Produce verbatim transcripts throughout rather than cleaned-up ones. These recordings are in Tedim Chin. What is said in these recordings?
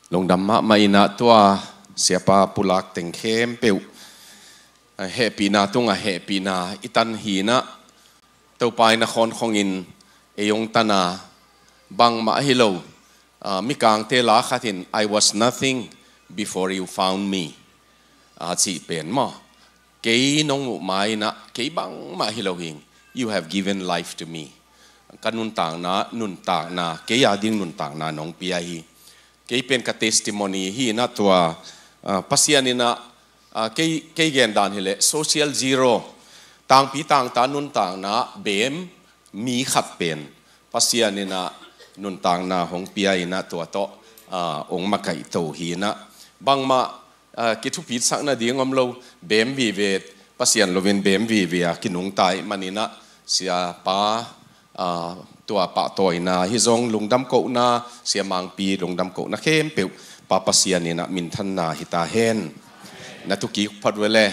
Lungdam mahmah inah tua siapa pulak teng khempeuh, ah, hehpihna tungah hehpihna i tan hinah, Topa in a khawnkhongin ei hong tana bangmah hi lo, ah, mikangte la khat in, "I was nothing before you found me," a cih pen maw. Kei nong muh ma inah kei bangmah hi lo hing. "You have given life to me." Ka nuntakna, nuntakna, kei a ding nuntakna nong pia hi. Kei pen ka testimony hi inah tua, ah, Pasian inah, ah, kei, kei gendan hileh social zero, tangpi tangta nuntakna bem mi khat pen Pasian inah nuntakna hong pia inah tua tawh, ah, hong makaihto hi inah. Bangmah, ah, kithupisak nading om lo, bem vive, Pasian loin bem vive a kinungta ih man inah, siapa, ah, tua pahtawina hi zong lungdam kohna, sia Mangpi lungdam kohna khempeuh Pa Pasian inah minthanna hi ta hen. Na thukik phot ve le.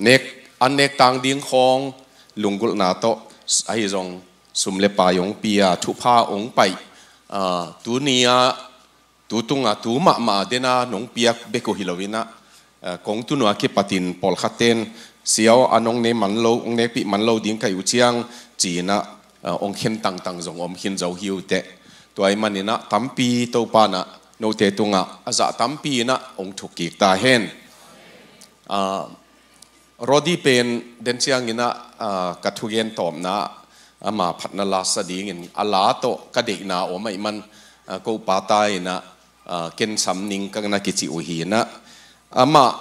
Nek, an nek tang ding khawng lunggulhna tawh, ahi zong sum le pai hong pia, thupha hong paih, ah, tuni a, tu tunga, tu mahmah dena nong piak bek uh hi lo inah, ah, kong tun uh a kipatin pawlkhat ten, "Sia aw, a nong ne man lo, hong nekpih man lo ding ka hi uh ciang," ci inah, ah, hong khen tangtang zong om khin zo hi uh teh. Tua ih man inah tampi Topa inah note tungah a zah tampi inah hong thukkik ta hen. Ah, Rodi pen den ciang inah, ah, ka thugen tawpna ama phatna la sa dingin a la tawh ka deihna om ahih man, ah, ko pa ta inah, ah, ken sam ning ka na kici uh hi inah. Amah,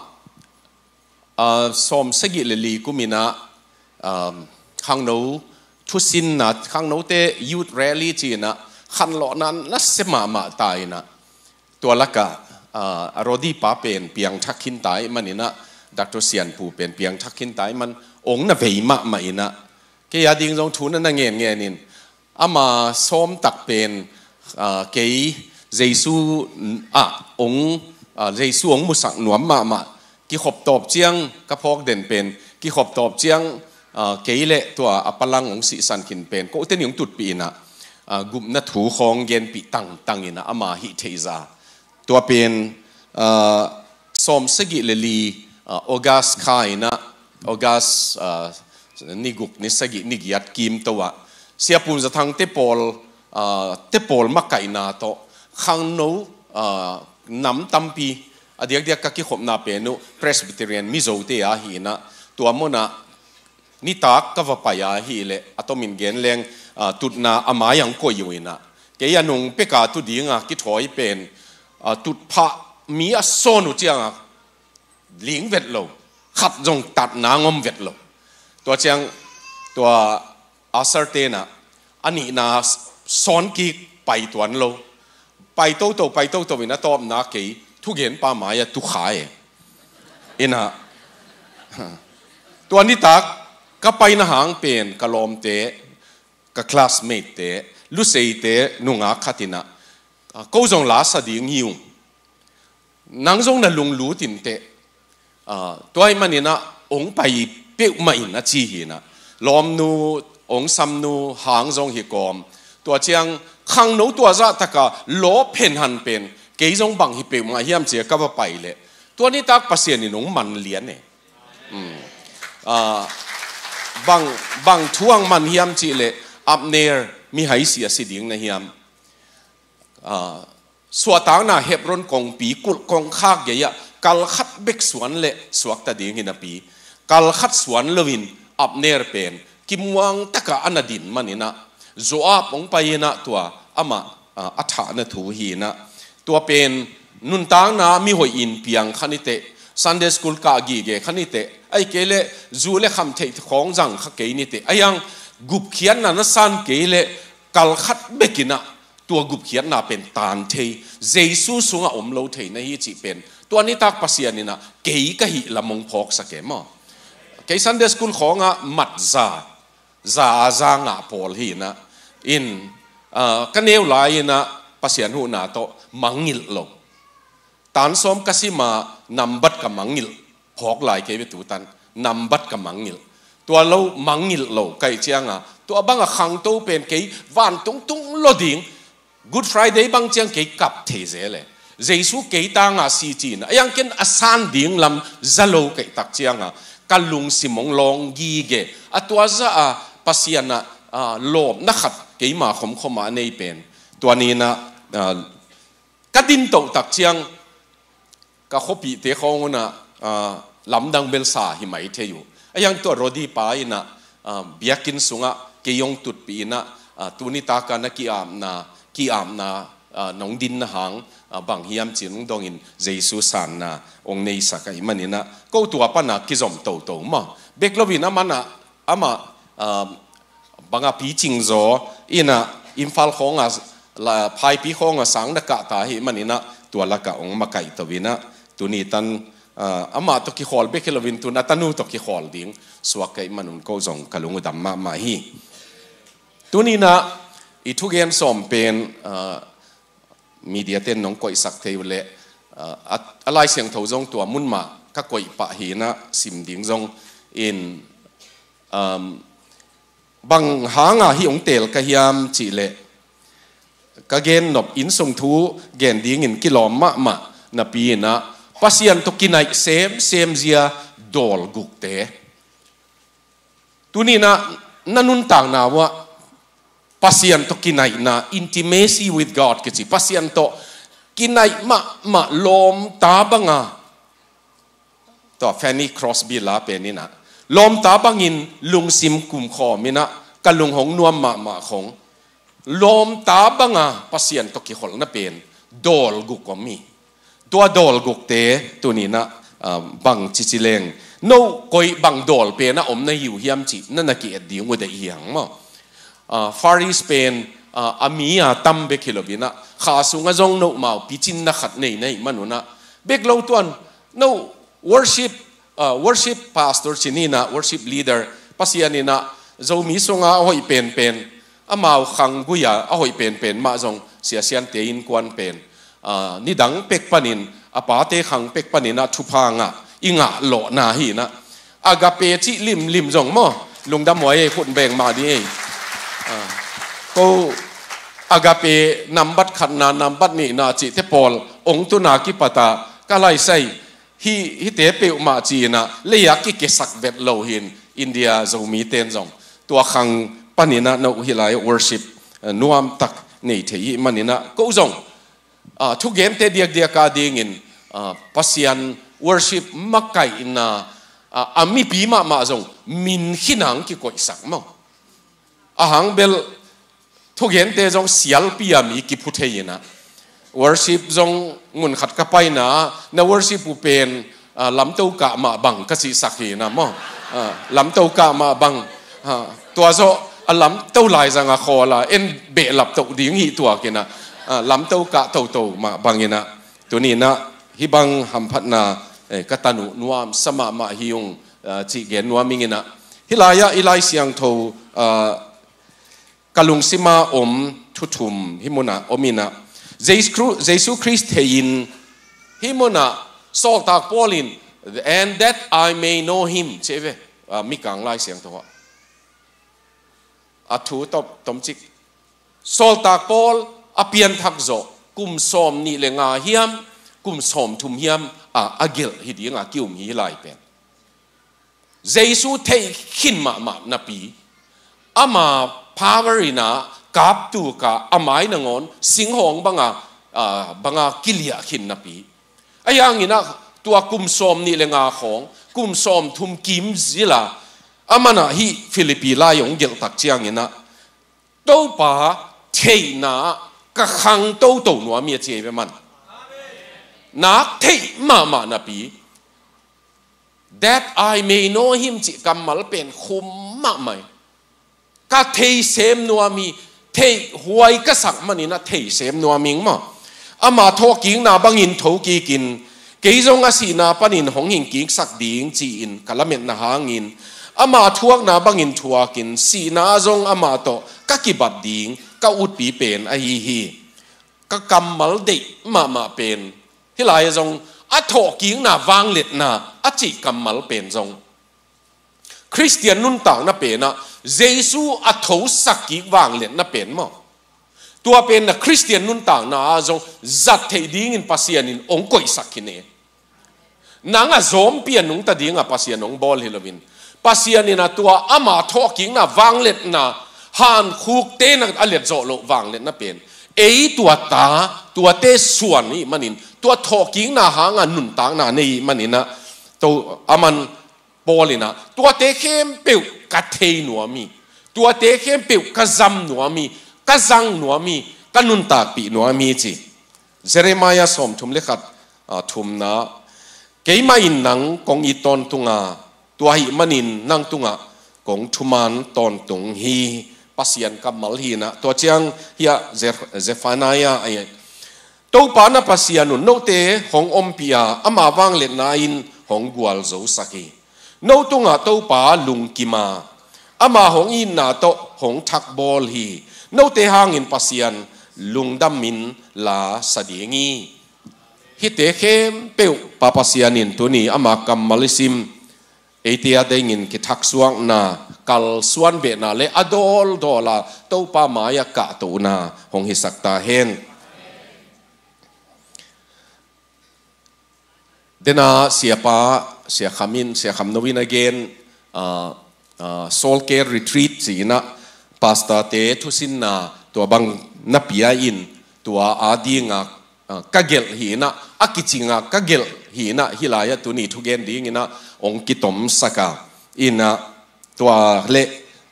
ah, sawm sagih le li kum inah, ah, khangno thusinna, khangnote youth rally ci inah khanlawhna nasia mahmah ta inah. Tua lakah, ah, a Rodi pa pen piangthak khin ta ih man inah, Doctor Sianpu pen piangthak khin ta ih man, hong na vei mahmah inah. Kei a ding zong thu na na ngenngen in, ama sawm tak pen, ah, kei Jesu, ah, hong, ah, Jesu hong musak nuam mahmah. Kikhop tawp ciang, ka phawk den pen, kikhop tawp ciang, ah, kei le tua a palang hong sihsan khin pen, kote nih hong tutpih inah, ah, gupna thu khawng genpih tangtang inah ama hih theihza. Tua pen, ah, sawm sagih le li, ah, August kha inah, August, ah, ni guk, ni sagih, ni giat kimto ah, Sia Pum Za Thang te pawl, ah, te pawl makaihna tawh, khangno, ah, nam tampi, a diakdiak ka kikhopna pen uh Presbyterian Mizote a hi inah, tua munah nitak ka va pai a hileh, a tomin gen leng, ah, tutna a mai ah hong koih uh inah. Kei a nung peka tu dinga kithawi pen, ah, tutphah mi a sawn uh cianga ling vet lo, khat zong tatna ngom vet lo. Tua ciang, tua asar tenah, a nihna sawn kik pai tuan lo. Pai toto, pai toto in a tawpna kei thugenpa mai-ah tukha e. Inah, tua nitak ka paina hang pen ka lawmte, ka classmate te, Luseite nungak khat inah, ah, ko zong la sa ding hi ung. Nang zong na lunglut inteh. Ah, tua ih man inah hong pai peuhmah in a ci hi inah. Lawmnu, hong samnu hang zong hi kawm. Tua ciang khangno tua zahtaka lawp henhan pen, kei zong bang hi peuhmah hiam ci-a ka va pai leh, tua nitak Pasian in hong man lian e. Hmm. Ah, bang, bang thu hong man hiam cih leh, Abner, mi hai si a si ding na hiam? Ah, suahtakna Hebron kongpi kulh kongkhak gei-ah kal khat bek suan leh suakta ding hi napi, kal khat suan loin Abner pen kimuang takah a na din man inah, Joab hong pai inah tua amah, ah, a thahna thu hi inah. Tua pen nuntakna mihoih in piang kha niteh, Sunday school kah gige kha niteh, ahih kei leh zu le kham theih khawng zang kha kei niteh, a hiang gupkhiatna na san kei leh kal khat bek inah tua gupkhiatna pen taan thei, Jesu sungah om lo thei na hi cih pen, tua nitak Pasian inah kei ka hih lam hong phawksak e maw. Kei Sunday school khawngah mat za, za a za ngah pawl hi inah. In, ah, ka neu lai inah Pasian huhna tawh mangngilh lo. Tan sawm ka sima nambat ka mangngilh. Phawk lai kei ve tutan, nambat ka mangngilh. Tua lo mangngilh lo ka hih cianga, tua banga khangto pen kei vantung tung lo ding, Good Friday bang ciang kei kap thei zel e. Jesu kei tanga si cina a iang ken a san ding lam za lo kei tak cianga ka lungsim hong lawng gige a, tua za a Pasian a, a, lawpna khat keima khomkhoma a nei pen tua nina, a, ka din toh tak ciang ka khuapihte khawng unah, ah, lamdang belsa hi mai thei uh. A iang tua Rodi pa inah, ah, biakinn sungah kei hong tutpih inah, ah, tuni taka na ki-apna, ki-apna, ah, nong dinna hang, ah, bang hiam cin hong dongin Jesu sanna hong neisak ahih maninah ko tua pana kizom toto maw. Bek loin a manah amah, ah, banga picing zaw inah Imphal khawnga, la, Phaipi khawnga sang na kahta hi maninah tua laka hong makaihto inah tuni tan, ah, amah tawh kikhawl bek hi loin tun a tanu tawh kikhawl ding suak ka hih manun ko zong ka lung uh dam mahmah hi. Tuninah i thugen sawm pen, ah, media ten nong koihsak thei uh leh, ah, a, a Lai Siangtho zong tua mun mah ka koih pah hinah sim ding zong in, um, bang hanga hih hong teel ka hiam cihleh ka gen nop innsung thu gen dingin kilawm mahmah napi inah Pasian tawh kinaih semsem zia dawl gukte. Tuninah na nuntakna uah Pasian tawh kinaihna, intimacy with God kici, Pasian tawh kinaih mahmah lawmta banga, tua Fanny Crosby la pen inah lawmta bangin lungsim kumkhawm inah ka lung hong nuam mahmah khong lawmta banga Pasian tawh kikholhna pen dawl guk om hi. Tua dawl gukte tuninah, ah, bang cici leng no koi bang dawl pen a om na hi uh hiam cih na na ki-et ding uh deih hiang maw. Ah, Far East pen, ah, a mi a tam bek hi loinah kha sungah zong no mau picinna khat nei na hih manunah bek lo tuan no worship, ah, worship pastor cininah worship leader Pasian inah Zomi sunga a hoih penpen amau khang guia a hoih penpen mah zong siasiante innkuan pen, ah, nidang pek panin a pate khang pek paninah thupha ngah i ngah lawhna hinah Agape cih limlim zong maw lungdam huai ei khut beng mah ding ei. Ah, ko Agape nambat khatna nambat nihna cihte pawl ong tuna kipata ka laisai hi, hite peuhmah cinah leia kikesak vet lo hin India Zomiten zong tua khang paninah no hih lai worship, eh, nuamtak nei thei hih maninah ko zong, ah, thugente diakdiaka dingin, ah, Pasian worship makaihna, ah, a mipi mahmah zong min khinang kikoihsak maw. Ahang bel thugente zong sialpi a mi kiphu thei inah worship zong mun khat ka paina na worship uh pen, ah, lamto kah mah bang ka cihsak hinah maw. Ah, lamto kah mah bang, ah, tua zawh a lamto laizanga khawla en behlap toh ding hih tuakinah, ah, lamto kah toto mah banginah tuninah hih bang hamphatna, eh, ka tanu nuamsa mahmah hi ung, ah, cih gen nuam inginah hih lai-ah i Lai Siangtho, ah, ka lungsima om thu thum hih munah om inah Jesu, Jesu Khrist thei-in hih munah sawltak Paul in and that I may know him ci ve, ah, Mikang Lai Siangtho ah a thu tom, tomcik sawltak Paul a pianthak zawh kum sawm nih le nga hiam kum sawm thum hiam, ah, a gelh hi dinga ki-um hi lai pen Jesu theih khin mahmah napi ama power inah kaptuka a mai nangawn singhawng banga, ah, banga kiliah khin napi a ianginah tua kum sawm nih le nga khawng kum sawm thum kim zila a manah hih Philippi lai hong gelhtak cianginah Topa theihna ka khang toto nuam hi a ci ei ve man. Nak theih mahmah napi that I may know him cih kammal pen khum mahmah hi. Ka theisem nuam hi, theih huai ka sak maninah theisem nuam hing maw. Ama thawhkikna bangin thokikin kei zong a sihna panin hong hingkiksak ding ci-in ka lametna hangin ama thuakna bangin thuakin sihna zong ama tawh ka kibat ding ka utpi pen ahi hi. Ka kammal deih mahmah pen hih lai-ah zong a thawhkikna vangliatna a cih kammal pen zong Khristian nuntakna penah Jesu a thosak kik vangliatna pen maw. Tua pen na Khristian nuntakna ah zong zat theih dingin Pasian in hong koihsak khin hi. Nang a zawmpi a nungta dingah Pasian hong bawl hi loin, Pasian in a tua ama thawhkikna vangliatna, hankhukte na a liat zawh loh vangliatna pen ei tua ta, tuate suan hi manin, tua thawhkikna hanga nuntakna nei hi manin a, to aman Paul in a, tuate khempeuh ka thei nuam hi, tuate khempeuh ka zam nuam hi, ka zang nuam hi, ka nuntakpih nuam hi ci. Jeremiah sawmthum le khat, ah, thumna, keimah in nang kong it tawntung a, tua ahih manin nang tungah kong thuman tawntung hi. Pasian kammal hi in a, tua ciang hiah Ze-, Zephaniah, ai, Topa na Pasian un note hong ompih a, ama vangliatna in hong gualzosak hi. No tungah Topa lungkim a, ama hong itna tawh hong thakbawl hi. Note hangin Pasian lungdamin la sa ding hi. Hihte khempeuh Pa Pasian in tuni ama kammal i sim, eite a dingin kithaksuakna, kalsuan behna le a dawldawl a Topa mai-ah kahtohna hong hisak ta hen. Dena siapa, Sia Kham in, Sia Kham No in a gen, ah, ah, Soul Care Retreat ci-in a, pastorte thusinna tua bang na pia in, tua a dinga, ah, ka gelh hi in a, a kicinga ka gelh hi in a, hih lai-ah tuni thugen dingin a hong kitomsak a, in a, tua le,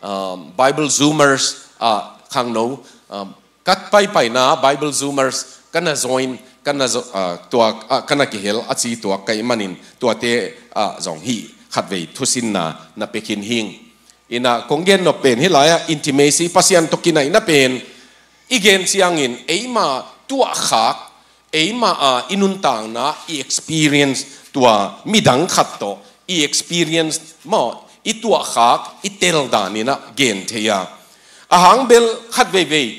ah, Bible Zoomers, ah, khangno, ah, ka paipaina Bible Zoomers ka na join, ka na zo-, ah, tua, ah, ka na kihel a ci tuak ka hih manin tuate, ah, zong hih khatvei thusinna na pia khin hing. In a kong gen nop pen hih lai-ah intimacy, Pasian tawh kinaihna pen i gen ciangin eima tuahkhak, eima, ah, i nuntakna i experience tua midang khat tawh i experience maw, i tuahkhak, i tel dan in a gen thei a. A hang bel khatveivei,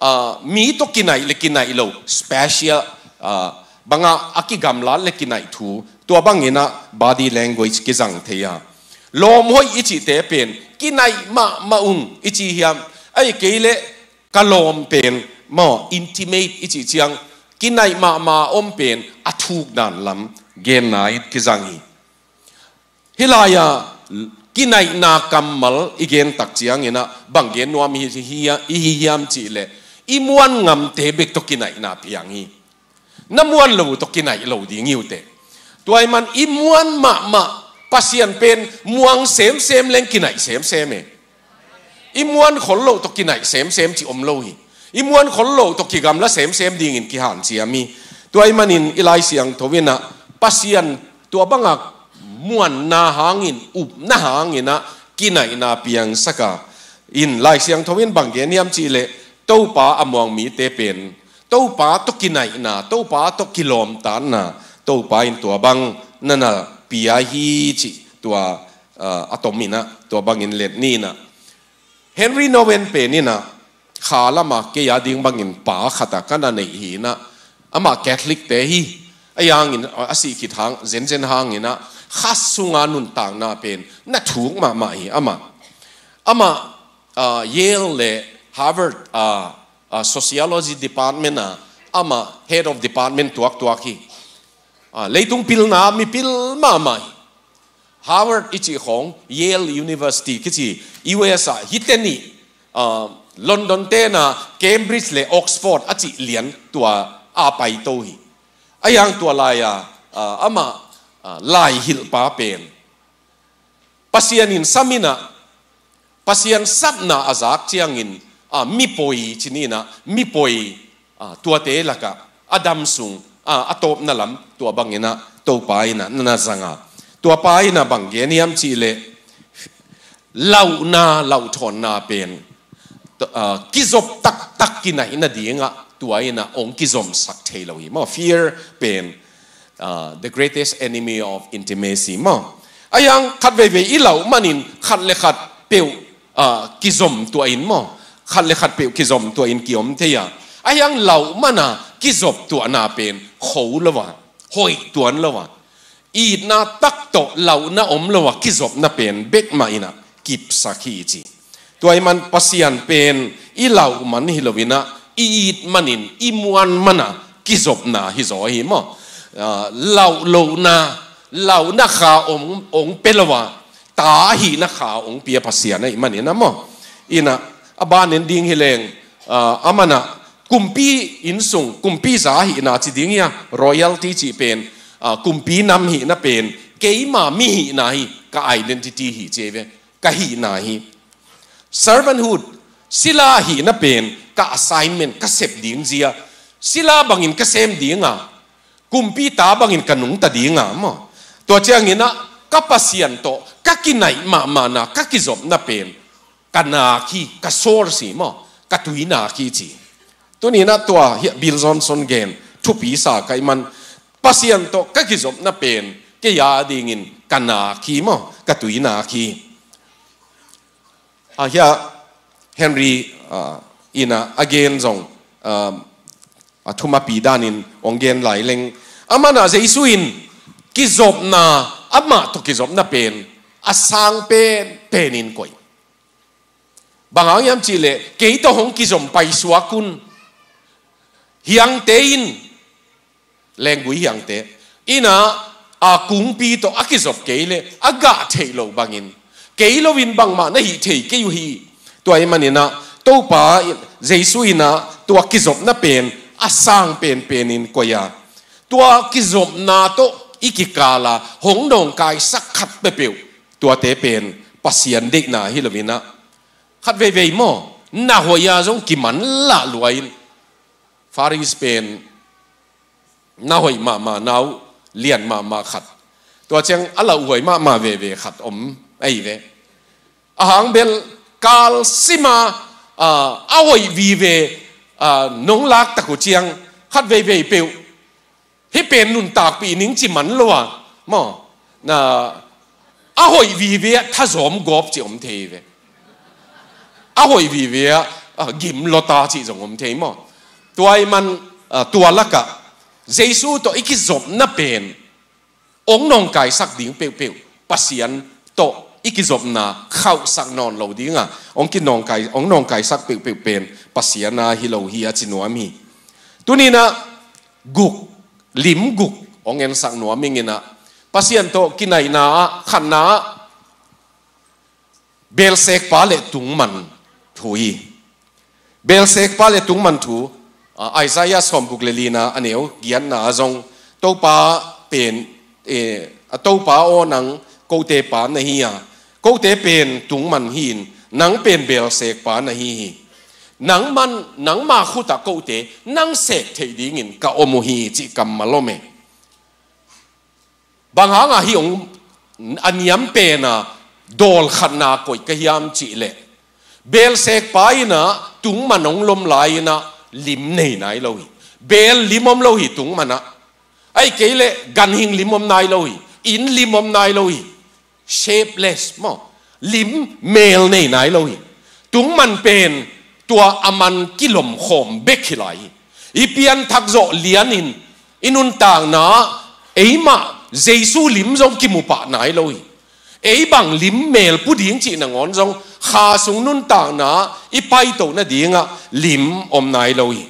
ah, mi tawh kinaih le kinaih lo, special, ah, banga a kigamlat le kinaih thu, tua bangin a body language kizang thei a. Lawm hoih i cihte pen kinaih mahmah ung i ci hiam? Ahih kei leh ka lawm pen maw, intimate i cih ciang, kinaih mahmah om pen a thuk dan lam genna in kizang hi. Hih lai-ah kinaihna kammal i gen tak ciangin a bang gen nuam i hi, hi, i hi hiam cih leh, i muan ngamte bek tawh kinaihna piang hi. Na muan lo tawh kinaih lo ding hi uh teh. Tua ahih man i muan mahmah Pasian pen muang semsem leng kinaih semsem e. I muan khol lo tawh kinaih semsem cih om lo hi. I muan khol lo tawh kigamla semsem dingin kihanciam hi. Tua ahih manin i Lai Siangtho in a Pasian tua banga muanna hangin, upna hangin a kinaihna piangsak a. In Lai Siangtho in bang gen hiam cih leh, Topa a muang mite pen Topa tawh kinaihna, Topa tawh kilawmtatna, Topa in tua bang na na pia hi cih tua, ah, a tom in a, tua bangin let ni in a. Henri Nouwen pen in a, kha lama kei a ding bangin pa khat a ka na neih hi in a, amah Catholic te hi, a hangin, a sih khit hang, zenzen hangin a, kha sunga nuntakna pen na thuk mahmah hi amah. Amah, ah, Yale le Harvard, ah, ah, Sociology Department a, amah Head of Department tuaktuak hi. Ah, leitung pilna mipil mahmah hi. Harvard i cih khawng, Yale University kici, U S a hihte nih, ah, London te na Cambridge le Oxford a cih lian tua a paito hi. A hang tua lai-a, ah, amah, ah, lai hilhpa pen Pasian in sam in a, Pasian sapna a zak ciangin, ah, mipoi ci ni in a, mipoi, ah, tuate lakah a dam sung, ah, a tawpna lam tua bangin a Topa in a na na zang a. Tua pa in a bang gen hiam cih leh, lauhna, lauhthawnna pen, ah, kizop taktak kinaih nadingah tua in a hong kizomsak thei lo hi maw. Fear pen, ah, the greatest enemy of intimacy maw. A hang khatveivei i lauh manin khat le khat peuh, ah, kizom tuah in maw. Khat le khat peuh kizom tuah in kiom thei a. A hang lauh man a kizop tuahna pen kho lo a, hoih tuan lo a, itna tak tawh lauhna om lo a kizopna pen bek mah in a kipsak hi ci. Tua ahih man Pasian pen i lauh man hi lo in a, i it manin, i muan mana kizopna hi zaw hi maw. Ah, lauh lohna, lauhna kha ong, ong pia lo a, ta ahihna kha ong pia Pasian ahih manin a maw. Ina, a banin ding hi leng, ah, a mana kumpi innsung, kumpi za ahihna ci ding hi a, royalty cih pen, ah, kumpi nam hihna pen, keima mi hihna hi, ka identity hi ci ve, ka hihna hi. Servanthood, sila hihna pen, ka assignment, ka sep ding zia. Sila bangin ka sem ding a, kumpi ta bangin ka nungta ding a maw. Tua ciangin a, ka Pasian tawh, ka kinaih mahmahna, ka kizopna pen, ka nak hi, ka source hi maw, ka tuinak hi ci. Tuni-in a tua hi Bill Johnson gen, thupi sa ka hih man, Pasian tawh, ka kizopna pen, kei a dingin, ka nak hi maw, ka tuinak hi. Ah, hi a Henry, ah, in a, a gen zong, ah, a thumapi danin ong gen lai leng. A mana Jesu in kizopna, amah tawh kizopna pen, a sang pen, penin koih. Bang hang hiam cih leh, kei tawh hong kizom paisuak un. Hiangte in, lenggui hiangte. Ina, a kungpi tawh a kizop kei leh, a gah theih loh bangin. Kei loin bangmah na hih thei kei uh hi. Tua ahih manin a, Topa, Jesu in a, tua kizopna pen, a sang penpenin koih a. Tua kizopna tawh i kikal a, hong nawngkaisak khat peuhpeuh. Tuate pen, Pasian deihna hi loin a. Khat veivei maw, na hoih a zong kimanlah lua in. Faris pen, na hoih mahmah na uh, lian mahmah khat. Tua ciang a lauhuai mahmah veve khat om, ahi ve. A hang bel kal sima, ah, a hoih vive, ah, nong lak tak uh ciang, khat veivei peuh. Hih pen nuntakpih ning ci man lo a, maw. Na, a hoih vive a thazawm gawp ci om thei ve. A hoih vive a, ah, gim lota ci zong om thei maw. Tua ahih man, ah, tua lakah, Jesu tawh i kizopna pen, ong nawngkaisak ding peuhpeuh, Pasian tawh i kizopna khauhsak nawn lo ding a, ong kinawngkai, ong nawngkaisak peuhpeuh pen, Pasian a hi lo hi a ci nuam hi. Tuni-in a guk, lim guk, ong ensak nuam ing in a, Pasian tawh kinaihna ah, khatna ah, belsekpa le tungman thu hi. Belsekpa le tungman thu, ah, Isaiah sawmguk le lina a neu giatna ah zong, Topa pen, eh, a Topa aw nang kote pa na hi a, kote pen tungman hi-in, nang pen belsekpa na hi hi. Nangman, nangma khut ah kote, nang sek theih dingin ka om uh hi cih kammal om e. Bang hang a hih ong a niam pen a dawl khatna koih ka hiam cih leh, belsekpa in a tungman ong lom lai in a lim nei nai lo hi. Beel lim om lo hi tungman ah. Ahih kei leh ganhing lim om nai lo hi. Inn lim om nai lo hi. Shapeless maw. Lim meel nei nai lo hi. Tungman pen tua a man kilom khawm bek hi lai hi. I pianthak zawh lianin, i nuntakna ah, eimah Jesu lim zong kimu pah nai lo hi. Ei bang lim meel pu ding cih nangawn zong, kha sung nuntakna ah i paito nading ah lim om nai lo hi.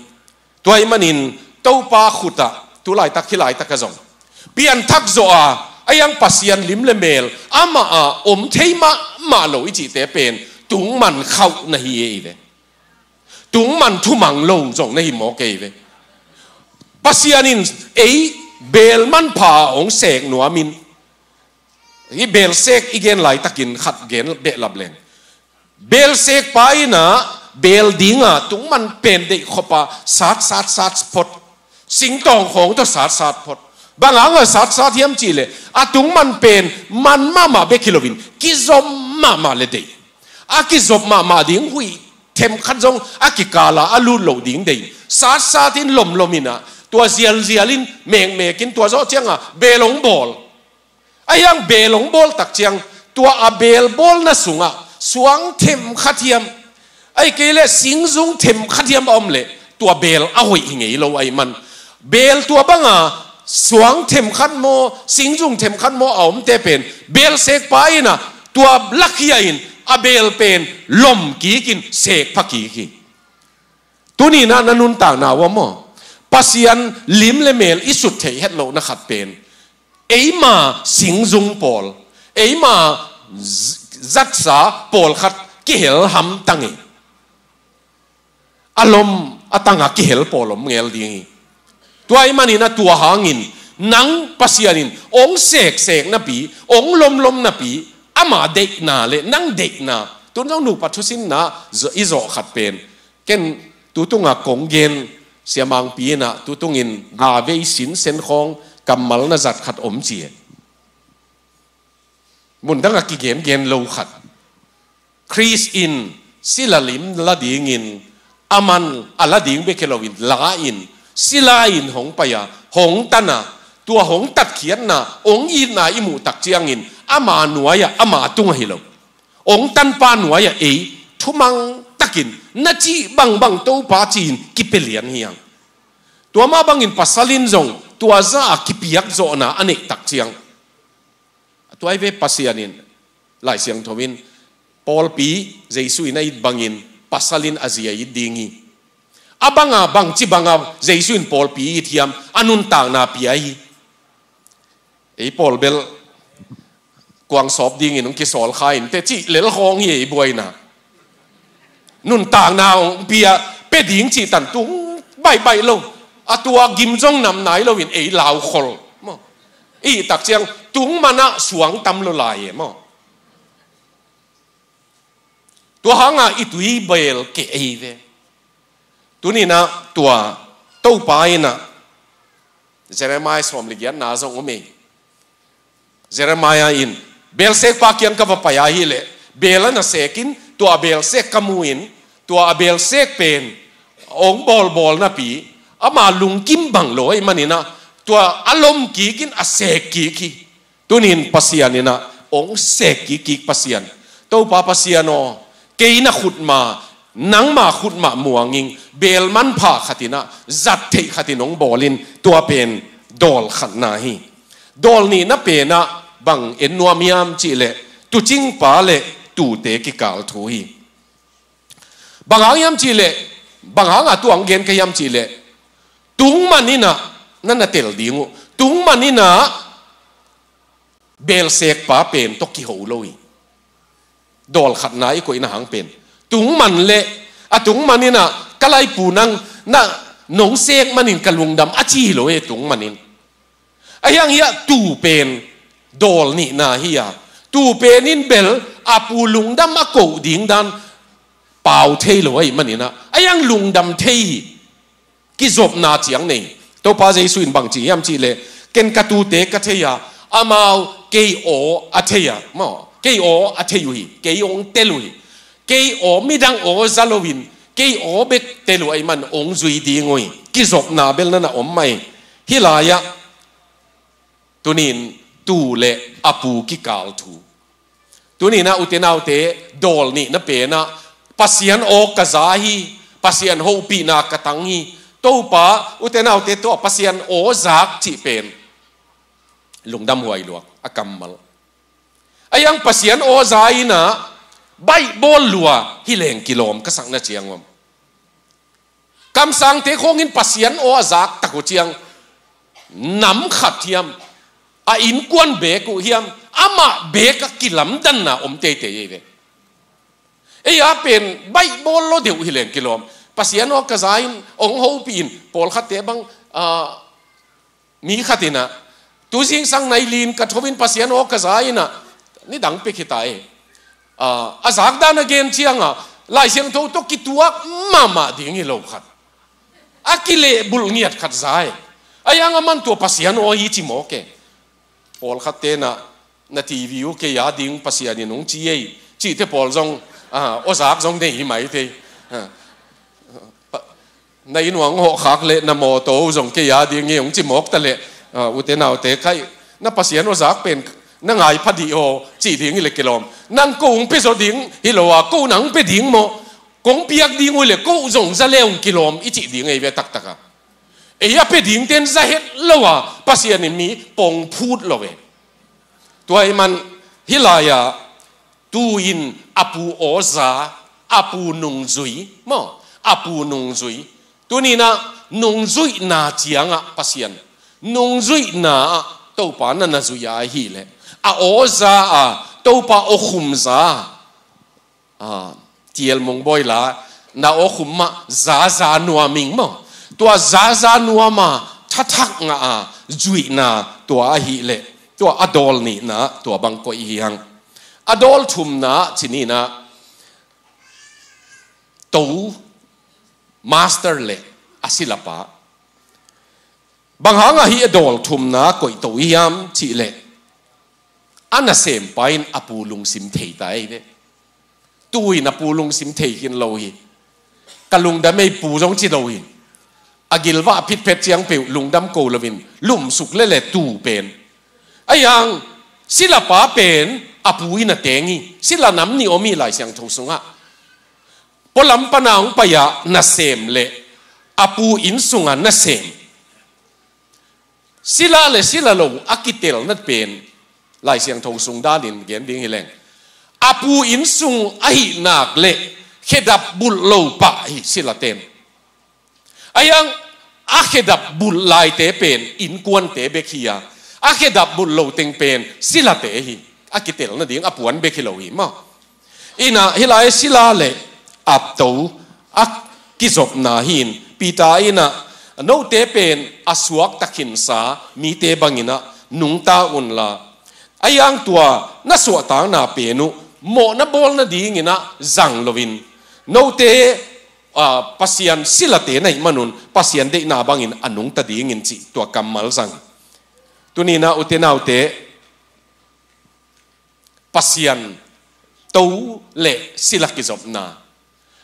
Tua ahih manin Topa khut ah, tu laitak hih laitak ah zong, pianthak zawh a, a hiang Pasian lim le meel amah ah om thei mahmah lo i cihte pen tungman khauh na hi e i ve. Tungman thumang lo zong na hi mawk e i ve. Pasian in ei beel manpha a ong sek nuam in, hih beel sek i gen laitakin khat gen behlap leng. Beel sekpa in a beel ding a tungman pen deih khop a sat, sat, sat phot. Singtawng khawng tawh sat, sat phot. Bang hang a sat, sat hiam cih leh, a tungman pen man mahmah bek hi loin, kizom mahmah le deih. A kizop mahmah ding huih themkhat zong a kikal a a lut loh ding deih. Sat, sat in, lom, lom in a, tua zial, zial in, mek, mek in, tua zawh ciang a beel ong bawl. A hiang beel ong bawl tak ciang, tua a beel bawlna sungah suang themkhat hiam, ahih kei leh singzung themkhat hiam a om leh, tua beel a hoih hi ngei lo ahih man. Beel tua bang a suang themkhat maw, singzung themkhat maw a omte pen, beel sekpa in a tua lakhia in a beel pen lom kik in, sek pha kik hi. Tuni-in ah na nuntakna uh ah maw, Pasian lim le mel i sut theih het lohna khat pen eima singzung pawl, eima z-, zatsa pawlkhat kihel hamtang hi. A lom a tanga kihel pawl om ngel ding hi. Tua ahih manin ah tua hangin nang Pasian in ong seksek napi, ong lomlom napi, ama deihna le nang deihna, tun zong nupa thusinna zo-, i zawh khat pen, ken tutunga kong gen, Sia Mangpi in ah tutungin ga vei sinsen khawng kammal na zat khat om ci e. Mundanga kigengen lo khat. Khrist in sila lim la dingin, aman a la ding bek hi loin la-in, sila-in hong pai a, hong tan a, tua hong tatkhiatna, hong itna i muh tak ciangin, ama nuai-ah, ama tung ahi lo, hong tanpa nuai-ah ei thumang takin na cih bangbang Topa ci-in kipia lian hi hang. Tua mah bangin pasal in zong tua za-a kipiak zawhna a neih tak ciang, a tuai ve Pasian in, Lai Siangtho in, pawlpi Jesu in a it bangin pasal in a zi a it ding hi. A banga, bangci banga Jesu in pawlpi it hiam, a nuntakna pia hi. Ei pawl bel kuang sawp dingin hong kisawl kha in teh cih lel khawng hi ei buaina. Nuntakna hong pia, pia ding cih tan tung baihbaih lo. A tua gim zong nam nai loin ei laukhol maw. I tak ciang tung manah suang tam lo lai e maw. Tua hanga i tui bel keh ei ve. Tuni-in ah tua Topa in ah Jeremiah sawm le giatna zong om ei. Jeremiah in, belsekpa kiang ka va pai ahih leh, bel a na sek in, tua a belsek ka mu in, tua a belsek pen hong bawlbawl napi, ama lungkim bang lo ahih manin ah, tua a lom kik in a sek kik hi. Tuni-in Pasian in ah hong sek kikkik Pasian. Topa Pasian aw, kei na khutma, nangma khutma muangin, bel manpha khat in ah, zat theih khat in hong bawl in, tua pen dawl khatna hi. Dawl nihna pen ah bang en nuam hiam cih leh, tuucingpa le tuute kikal thu hi. Bang hang hiam cih leh, bang hanga tua hong gen ka hiam cih leh, tung man in ah na na tel ding uh, tung man in ah belsekpa pen tawh kiho lo hi. Dawl khatna i koihna hang pen, tung man le, a tung man in ah ka laipu nang na nong sek manin ka lungdam a ci hi lo e, tung man in. Ahi hang hiah tuu pen dawl nihna hi a, tuu pen in bel a pu lungdam a koh ding dan pau thei lo ahih manin ah, ahi hang lungdam thei hi. Kizopna ciang nei. Topa Jesu in bang ci hiam cih leh, ken ka tuute ka thei a, amau kei aw a thei a, maw, kei aw a thei uh hi, kei hong tel uh hi. Kei aw, midang aw za loin, kei aw bek tel uh ahih man hong zui ding uh hi. Kizopna bel na na om mah hi. Hih lai-ah tuni-in tuu le a pu kikal thu. Tuni-in ah ute naute, dawl nihna pen ah, Pasian aw ka za hi, Pasian hopihna ka tang hi. Topa, ute naute, tua Pasian aw zak cih pen lungdam huai lua a kammal. Ahi hang Pasian aw za in ah baihbawl lua hi leng kilawm ka sakna ciang om. Kamsangte khawng in Pasian aw a zak tak uh ciang, nam khat hiam, a innkuan beek uh hiam, amah beek a kilamdanna om teitei ei ve. Ei a pen baihbawl lo deuh hi leng kilawm. Pasian aw ka za in, hong hopih in, pawlkhatte bang, ah, mi khat in ah, tu zingsang nai lin ka tho in Pasian aw ka za in ah, nidang pek hi ta e. Ah, a zakdan a gen ciang a, Lai Siangtho tawh kituak mahmah ding hi lo khat, a kilehbulh ngiat khat za e. Ahi hang aman tua Pasian aw hi ci mawk e. Pawlkhatte in ah, na T V uh kei a ding Pasian in hong ci ei, cihte pawl zong, ah, aw zak zong nei hi mai thei. Ah. Pa-, na inn uah hong hawhkhak leh na mawtaw uh zong kei a ding hi hong ci mawk ta leh, ah, ute naute, kai, na Pasian aw zak pen na ngai pha dih aw cih ding hi leh kilawm. Nang ko hong pia zaw ding hi lo a, ko nang pia ding maw, kong piak ding uh leh ko zong za le hong kilawm i cih ding ei ve taktak a. Ei a pia dingte in za het lo a, Pasian in mi pong phut lo ve. Tua ahih man hih lai-ah, tuu in a pu aw za, a pu nungzui maw, a pu nungzui. Tuni-in ah nungzuihna ciangah Pasian, nungzuihna ah Topa na na zui a ahih leh, a aw za a, Topa aw khum za a, a, T L Mungbawi la, na aw khum mah za za nuam ing maw. Tua za za nuam a, thathak ngah a, zuihna tua ahih leh, tua a dawl nihna tua bang koih hi hang. A dawl thumna ci-in ah, to master le a silapa. Bang hang a hih a dawl thumna koih to hiam cih leh, a nasempa in a pu lungsim thei ta ei ve. Tu-in a pu lungsim thei khin lo hi. Ka lungdam ei pu zong ci lo hi. A gilvah phitphet ciang peuh lungdam ko loin lumsuk lele tu pen. Ahi hang silapa pen a pu in a teng hi. Sila nam nih om hi Lai Siangtho sungah. Pualam pana hong pai-a nasem le a pu inn sunga nasem, sila le sila lo a kitelna pen Lai Siangtho sung danin gen ding hi leng, a pu inn sung ahih nak le khedap bulh lo pah hi silate in. Ahi hang a khedap bulh laite pen innkuante bek hi a, a khedap bulh lo teng pen silate hi. A kitelna ding a puan bek hi lo hi maw. In ah hih lai sila le a to a kizopna hi-in, Peter in ah, note pen a suakta khinsa mite bangin ah nungta unla, ahi hang tua na suahtakna pen uh mawhna bawl nadingin ah zang loin, note, a, Pasian silate na hih manun Pasian deihna bangin a nungta dingin cih tua kammal zang. Tuni-in ah ute naute, Pasian to le sila kizopna,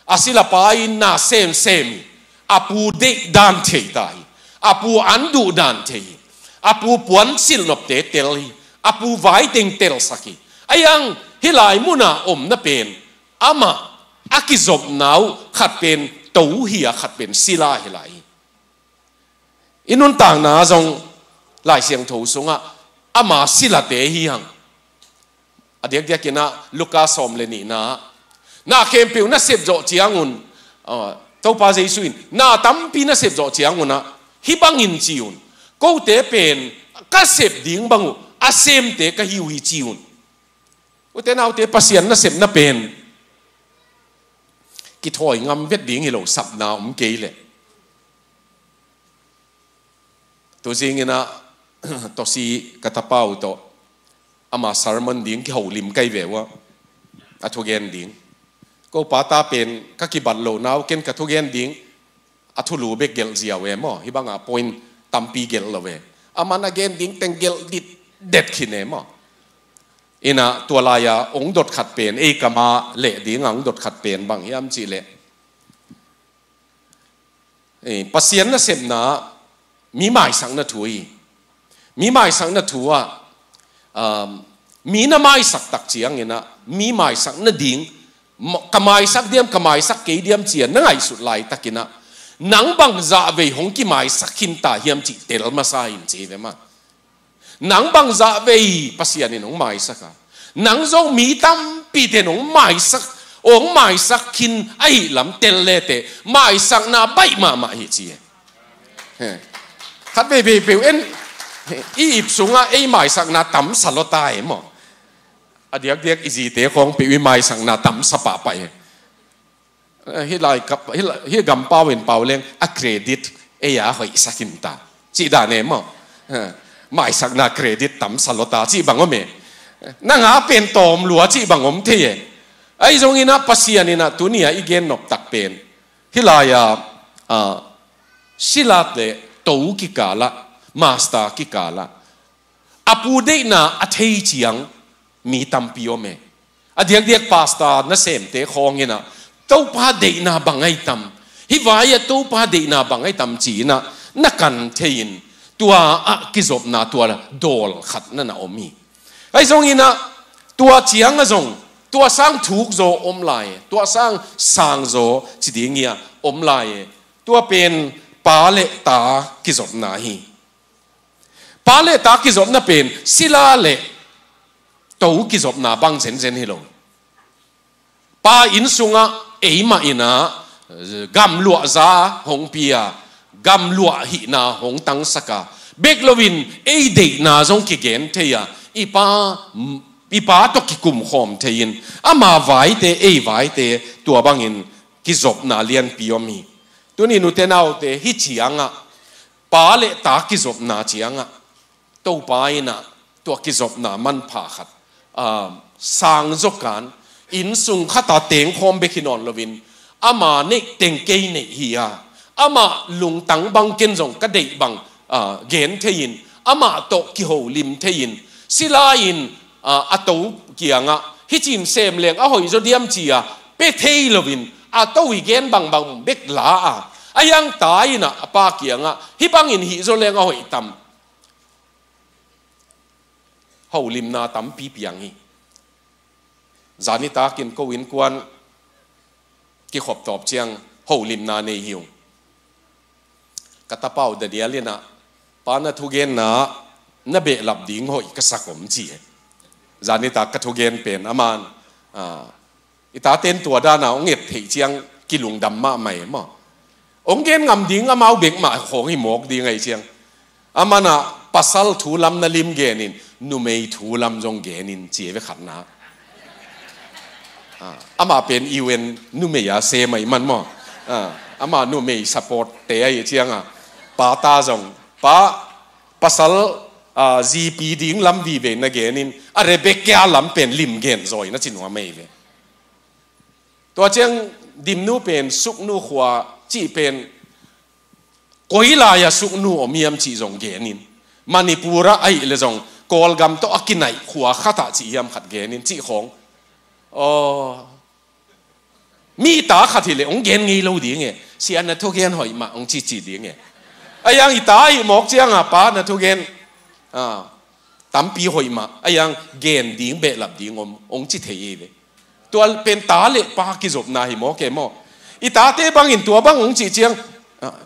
a silapa in na semsem hi. A pu deih dan thei ta hi. A pu an duh dan thei hi. A pu puan silhnopte tel hi. A pu vai teng telsak hi. Ahi hang hih lai muna omna pen, amah a kizopna uh khat pen to hi a, khat pen sila hi lai hi. I nuntakna zong Lai Siangtho sungah ama silate hi hang. A diakdiakin ah Luka sawm le nihna, na khempeuh na sep zawh ciangun, ah, Topa Jesu in na tampi na sep zawh ciangun ah, hih bangin ci un, kote pen ka sep ding bang uh a semte ka hi uh hi ci un. Ute naute, Pasian nasepna pen kithawi ngam vet ding hi lo, sapna om kei leh. Tuzingin ah Tosi ka tapa uh tawh ama sermon ding kiholim kai ve uh a, a thugen ding. Ko pa ta pen ka kibat loh nau ken ka thugen ding a thulu bek gelh ziau e maw. Hih bangah point tampi gelh lo e. Aman a gen ding teng gelh ditdet khin e maw. In ah tua lai-a ong dot khat pen, ei kama leh ding a ong dot khat pen bang hiam cih leh, eh, Pasian nasepna mi maisakna thu hi. Mi maisakna thu ah, um, mi na maisak tak ciangin ah mi maisak nading, ma-, ka maisak diam, ka maisak kei diam ci-a na ngaihsut laitakin ah, nang bang zah vei hong kimaisak khin ta hiam cih tel masa in ci ve maw. Nang bang zah vei Pasian in hong maisak a, nang zong mi tampite in hong maisak, hong maisak khin ahih lam tel leteh, maisakna baih mahmah hi ci e. He. Khat veivei peuh en, i ip sungah ei maisakna tamsa lua ta e maw. A diakdiak i zite khawng peuh i maisakna tamsa pahpah e. Eh, hih lai kap, hih lai, hih gam pau in pau leng a credit ei a hoihsak in ta cih dan e maw. Eh, maisakna credit tamsa lua ta cih bang om e. Nang a pen tawm lua cih bang om thei e. Ahi zongin ah Pasian in ah tuni-a i gen noptak pen, hih lai-a, ah, silat le to kikal ah, master kikal ah, a pu deihna a thei ciang mi tampi om e. A diakdiak pastor nasemte khawng in ah Topa deihna bang ahi tam, hih vai-ah Topa deihna bang ahi tam ci-in ah na kan thei-in, tua ah kizopna tua dawl khat na na om hi. Ahi zongin ah tua ciang ah zong tua sang thuk zaw om lai e, tua sang sang zaw ci ding hi a, om lai e. Tua pen pa le ta kizopna hi. Pa le ta kizopna pen sila le to kizopna bang zenzen hi lo. Pa inn sungah eimah in ah gamluahza hong pia, gamluah hihna hong tangsak a, bek loin ei deihna zong kigen thei a, i pa, i pa tawh kikumkhawm thei-in, ama vaite, ei vaite, tua bangin kizopna lianpi om hi. Tuni nute naute, hih ciangah pa le ta kizopna ciangah Topa in ah tua kizopna manpha khat, aa, sang zawkan, inn sung khat a tengkhawm bek hi nawn loin, ama neih teng kei neih hi a, ama lungtang bang ken zong ka deih bang, aa, gen thei-in, ama tawh kiholim thei-in, sila in, aa, a to kiangah, hih cin sem leng a hoih zaw diam ci-a, pe thei loin, a to i gen bangbang bek la a, a hiang ta in ah a pa kiangah, hih bangin hih zaw leng a hoih tam. Holimna tampi piang hi. Zanitak in ko innkuan kikhop tawp ciang holimna nei hi ung. Ka tapa uh Daniel in ah, pa na thugenna na behlap ding hoih ka sak om ci hi. Zanitak ka thugen pen aman, ah, i taten tua dana hong et theih ciang kilungdam mahmah e maw. Hong gen ngam ding amau bek mah khawng hi mawk ding ahi ciang. Aman ah pasal thu lam na lim genin, numei thu lam zong genin ci e ve khatna. Ah, amah pen U N numei a sem ahi man maw. Ah, amah numei support te ahi ciang a, pa ta zong, pa, pasal, ah, zipi ding lam vive na genin, a Rebecca lam pen lim gen zaw in a ci nuam ahi ve. Tua ciang Dimnu pen Suknu khua cih pen koi lai-a Suknu om hiam cih zong genin, Manipur ah ahih leh zong Kawlgam tawh a kinaih khua khat ah cih hiam khat genin cih khawng. Aw, mi ta khat hi leh hong gen ngei lo ding e, sia na thugen hoih mah hong cici ding e. A hiang i ta ahih mawk ciang a pa na thugen, ah, tampi hoih mah, a hiang gen ding behlap ding om hong ci thei hi ve. Tua pen ta le pa kizopna hi mawk e maw. I tate bangin tua bang hong cih ciang, ah,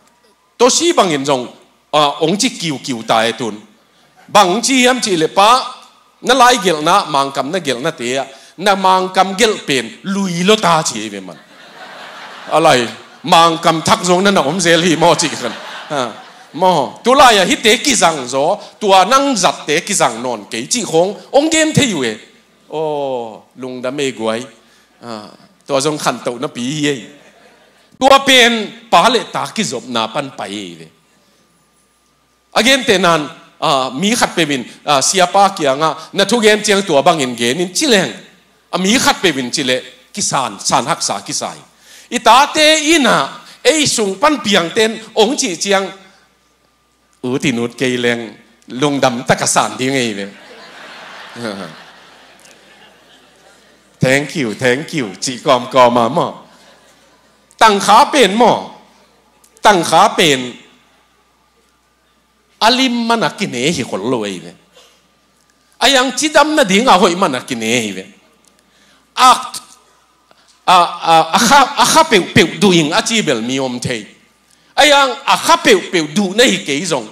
Toshi bangin zong, ah, hong ci kiukiu ta e tun. Bang hong ci hiam cih leh pa, na lai gelhna, Mangkam na gelhnate ah, na Mangkam gelh pen lui lo ta ci hi ve man. A lai, Mangkam thak zong na na om zel hi maw cih khan. Ah, maw, tu lai-a hihte kizang zaw, tua nang zatte kizang nawn kei cih khawng hong gen thei uh e. Aw, lungdam e guai. Ah, tua zong khantohna pi hi ei. Tua pen pa le ta kizopna pan pai hi ve. A gentehna in, ah, mi khatpeuh in, ah, siapa kiangah na thugen ciang tua bangin genin ci leng, a mi khatpeuh in ci leh kisan, san haksa kisa hi. I tate in ah ei sung pan piangte in hong cih ciang, ut in ut kei leng lungdam taka san ding ei ve. Thank you, thank you cih kawmkawm a maw. Tangkha pen maw, tangkha pen a lim man a kine hi khol lo ei ve. A hiang cidam nading a hoih man a kine hi ve. A, a, a, a kha, a kha peuhpeuh duh ing a ci bel mi om thei. A hiang a kha peuhpeuh duh na hi kei zong,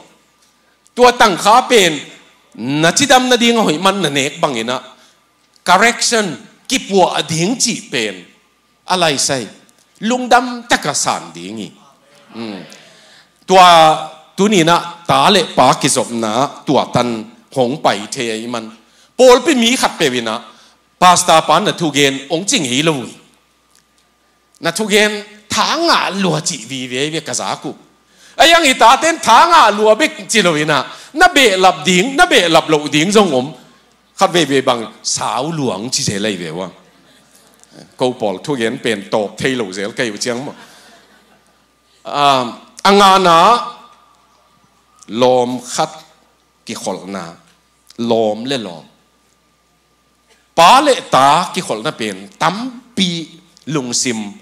tua tangkha pen na cidam nading a hoih man na nek bangin ah correction, kipuah ding cih pen a laisai lungdam taka san ding hi. Mm. Tua tuni in ah ta le pa kizopna tua tan hong pai thei ahih man, pawlpi mi khatpeuh in ah pastor pa na thugen hong ci ngei lo uh hi. Na thugen tha ngah lua cih vive ve ka zak uh. A hiang i taten tha ngah lua bek ci lo in ah, na behlap ding, na behlap loh ding zong om. Khat veivei bang sau luang ci zel ahi ve ua. Ko pawl thugen pen tawp thei lo zel ka hi uh ciang maw. Ah, a ngana lawm khat kikholhna, lawm le lawm. Pa le ta kikholhna pen tampi lungsim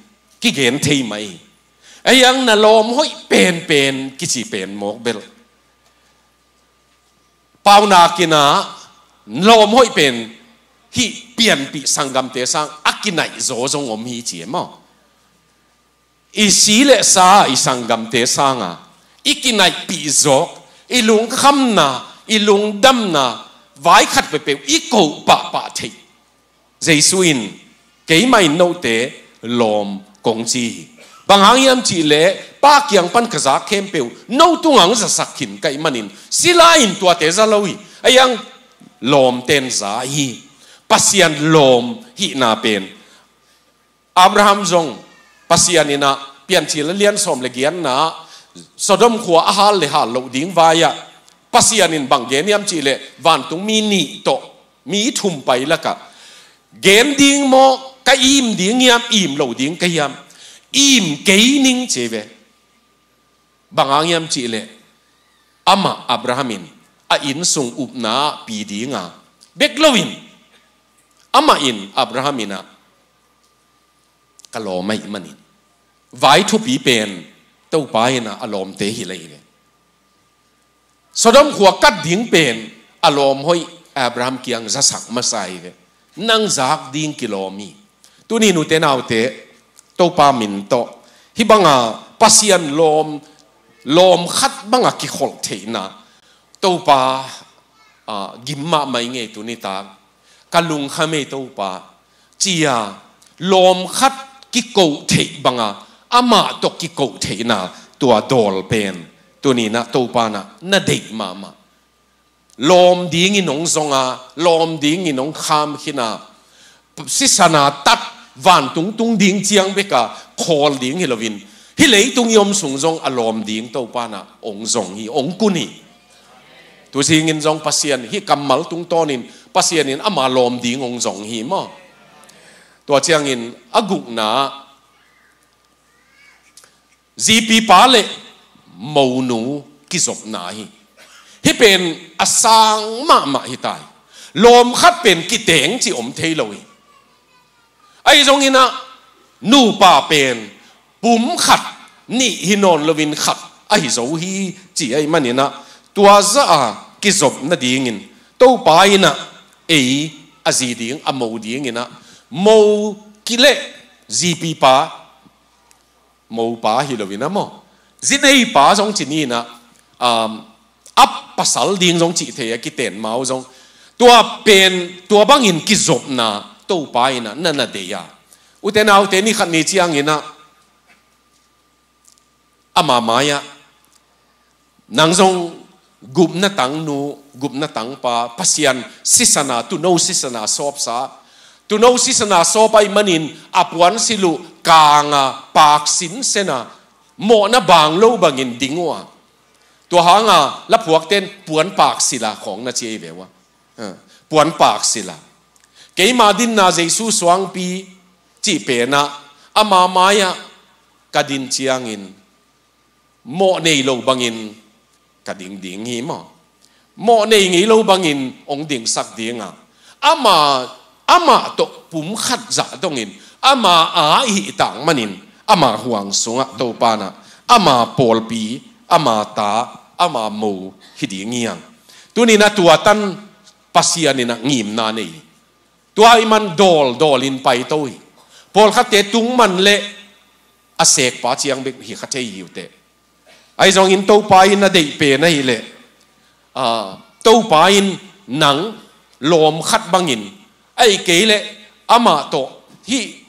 kigen thei mai. A hiang na lawm hoih penpen kici pen mawk bel. Paunak in ah lawm hoih pen hih pianpih sanggamte sang a kinaih zaw zong om hi ci e maw. I si le sa i sanggamte sanga i kinaihpih zawk, i lungkhamna, i lungdamna, vai khat peuhpeuh i koh pahpah theih. Jesu in, keimah in note lawm kong ci hi. Bang hang hiam cih leh, Pa kiang pan ka zak khempeuh no tungah hong zasak khin ka hih manin, sila in tuate za lo hi. Ahi hang lawmten za hi. Pasian lawm hihna pen Abraham zong Pasian in ah, Piancil a lian sawm le giatna, Sodom khua a hal le hal loh ding vai-ah Pasian in bang gen hiam cih leh, vantungmi nih tawh mi thum pai lakah, gen ding maw, ka im ding hiam, im lo ding ka hiam? Im kei ning, ci ve. Bang hang hiam cih leh, amah Abraham in a innsung upna ah pi ding a, bek lo in, amah in, Abraham in ah, ka lawm ahih manin, vai thupi pen Topa in ah a lawmte hi lai ve. Sodom khua kat ding pen a lawm hoih Abraham kiang zasak masa hi ve. Nang zak ding kilawm hi. Tuni, nute naute, Topa min tawh, hih banga Pasian lawm, lawm khat banga kikholh theihna, Topa, ah, gim mahmah ing ei tuni tak. Ka lungkham ei Topa, ci-a lawm khat kiko theih banga, amah tawh kiko theihna, tua dawl pen tuni-in ah Topa in ah na deih mahmah. Lawm dingin hong zong a, lawm dingin hong kham khin a, sisan a tat, vantung tung ding ciang bek a khawl ding hi loin, hih leitung i om sung zong a lawm ding Topa in ah hong zong hi, hong kun hi. Tu zingin zong Pasian, hih kammal tungtawnin Pasian in ama lawm ding hong zong hi maw. Tua ciangin a gukna, zipipa le monu kizopna hi. Hih pen a sang mahmah hi ta hi. Lawm khat pen kiteng cih om thei lo hi. Ahi zongin ah, nupa pen pum khat, nih hi nawn loin khat ahi zo hi, ci ahih manin ah, tua zah a kizop nadingin Topa in ah ei a zi ding, a mo dingin ah, mo ki le zipipa, mopa hi loin ah maw, zi neipa zong ci ni in ah, um, a pasal ding zong cih thei a, kiten mau zong. Tua pen, tua bangin kizopna Topa in ah na na deih a. Ute naute, ni khat ni ciangin ah ama mai-ah, nang zong gupna tangnu, gupna tangpa, Pasian sisan a, tuuno sisan a sawpsa, tuuno sisan a sawp ahih manin a puansilh uh kang a, pak sinsen a, mawhna bang lo bangin ding uh a. Tua hang a laphuakten puanpak silh a khawng na ci ahi ve uh a. Ha, puanpak silh a. Keima dinna Jesu suangpi cih pen ah, ama mai-ah ka din ciangin mawh nei lo bangin ka ding ding hi maw. Mawh nei ngei lo bangin hong dingsak ding a, ama, amah tawh pum khat zah dongin, ama a hih tak manin, ama huang sungah Topa in ah ama pawlpi, ama ta, ama mo hi ding hi hang. Tuni in ah tua tan Pasian in ah ngimna nei hi. Tua ahih man dawl, dawlin paito hi. Pawlkhatte tung man leh a sekpa ciang bek hi kha thei hi uh teh. Ahi zongin Topa in a deih pen ahih leh, ah, Topa in nang lawm khat bangin, ahih kei leh amah tawh hih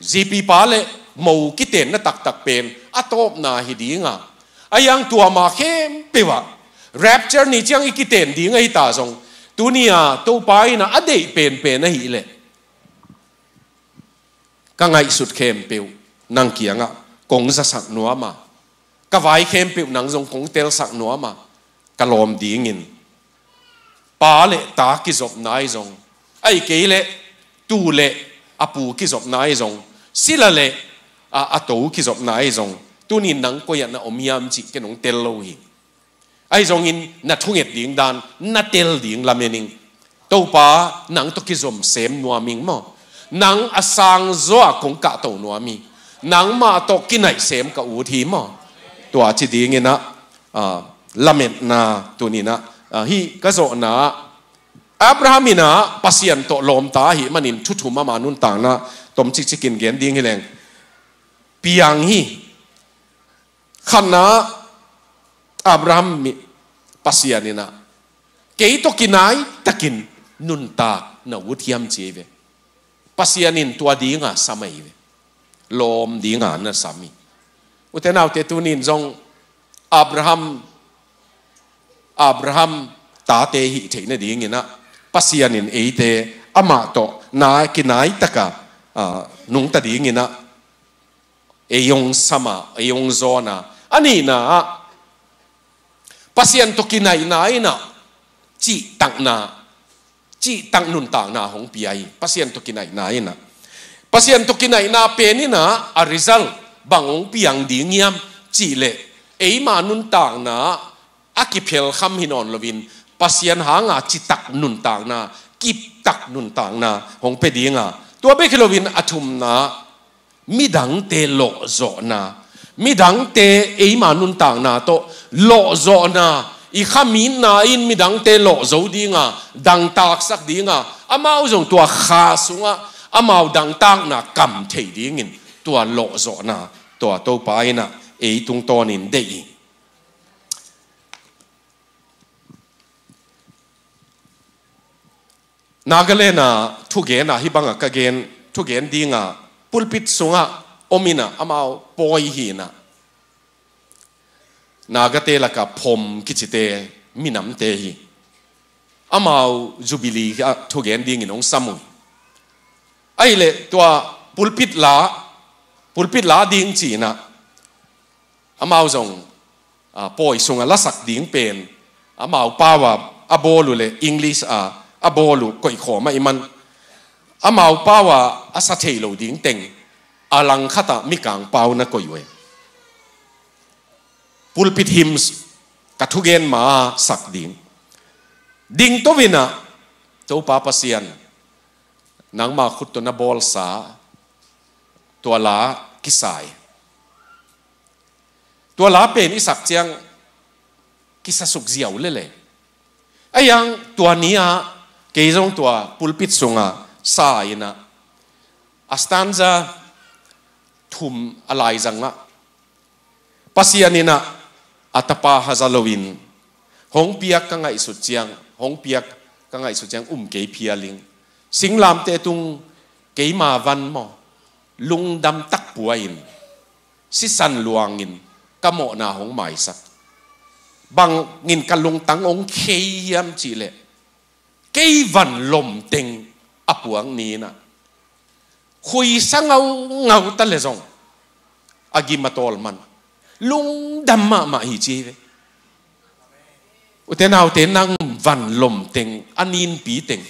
zipipa le mo kitenna taktak pen a tawpna hi ding a. Ahi hang tua ma khempeuh ah, rapture ni ciang i kiten ding ahi ta zong, tuni a Topa in ah a deih penpen ahih leh, ka ngaihsut khempeuh nang kiangah kong zasak nuam a, ka vai khempeuh nang zong kong telsak nuam a, ka lawm dingin pa le ta kizopna ahi zong, ahih kei leh tuu le a pu kizopna ahi zong, sila le a, a to kizopna ahi zong, tuni in nang koi ah na om hiam cih ken hong tel lo hi. Ahi zongin na thunget ding dan na tel ding lamen ing. Topa, nang tawh kizom sem nuam ing maw. Nang a sang zaw a kong kahto nuam hi. Nangmah tawh kinaih sem ka ut hi maw. Tua ci dingin ah, ah, lametna tuni in ah, ah, hih ka zawhna ah, Abraham in ah Pasian tawh lawmta ahih manin thu thum ama nuntakna tom cikcikin gen ding hi leng. Piang hi. Khatna, Abraham mi, Pasian in ah, kei tawh kinai takin nuntak na ut hiam ci hi ve. Pasian in tua ding a sam ahi ve. lawm dinga na sam hi. Ute naute, tunin zong Abraham, Abraham tate hih theih nadingin ah Pasian in eite amah tawh na kinai taka, ah, nungta dingin ah ei hong sam a, ei hong zawn a. A nihna ah Pasian tawh kinaihna in ah cihtakna, cihtak nuntakna hong pia hi. Pasian tawh kinaihna in ah, Pasian tawh kinaihna pen in ah a result bang hong piang ding hiam cih leh, eima nuntakna a kiphelkham hi nawn loin Pasian hanga citak nuntakna, kiptak nuntakna hong pia dinga, tua bek hi loin a thumna, midangte lawhzawhna, midangte eima nuntakna tawh lawhzawhna, i khamitna in midangte lawhzo dinga, dangtaksak dinga, amau zong tua kha sungah amau dangtakna kam thei dingin tua lawhzawhna tua Topa in ah ei tungtawnin deih hi. Nagaland a thugen a, hih banga ka gen, thugen dinga pulpit sungah om in ah amau pawi hi in ah, Nagate laka Phom kicite minamte hi. Amau Jubilee ah thugen dingin hong sam uh hi. Ahih leh tua pulpit la, pulpit la ding ci in ah amau zong, ah, pawi sungah lasak ding pen amau pau a a bawl uh leh English a a bawl uh koihkhawm ahih man, amau pau a a sa thei lo ding teng a langkhat ah Mikang pau na koih uh hi. Pulpit hymns ka thugen ma sak ding. Dingto in ah, Topa Pasian, nangma khut tawh na bawlsa tua la kisa hi. Tua la pen i sak ciang kisasuk ziau lel e. Ahi hang tua ni-ah kei zong tua pulpit sungah sa in ah, a stanza thum a laizangah, Pasian in ah a tapa haza loin hong piak ka ngaihsut ciang, hong piak ka ngaihsut ciang um kei phial ing. Singlamteh tung keima van maw, lungdam tak pua in, sisan luangin ka mawhna hong maisak. Bangin ka lungtang hong khei hiam cih leh, kei van lomteng a puak ni in ah, khuisa ngaungau ta leh zong a gim a tawl man lungdam mahmah hi ci hi ve. Ute naute, nang van lomteng, a ninpi teng,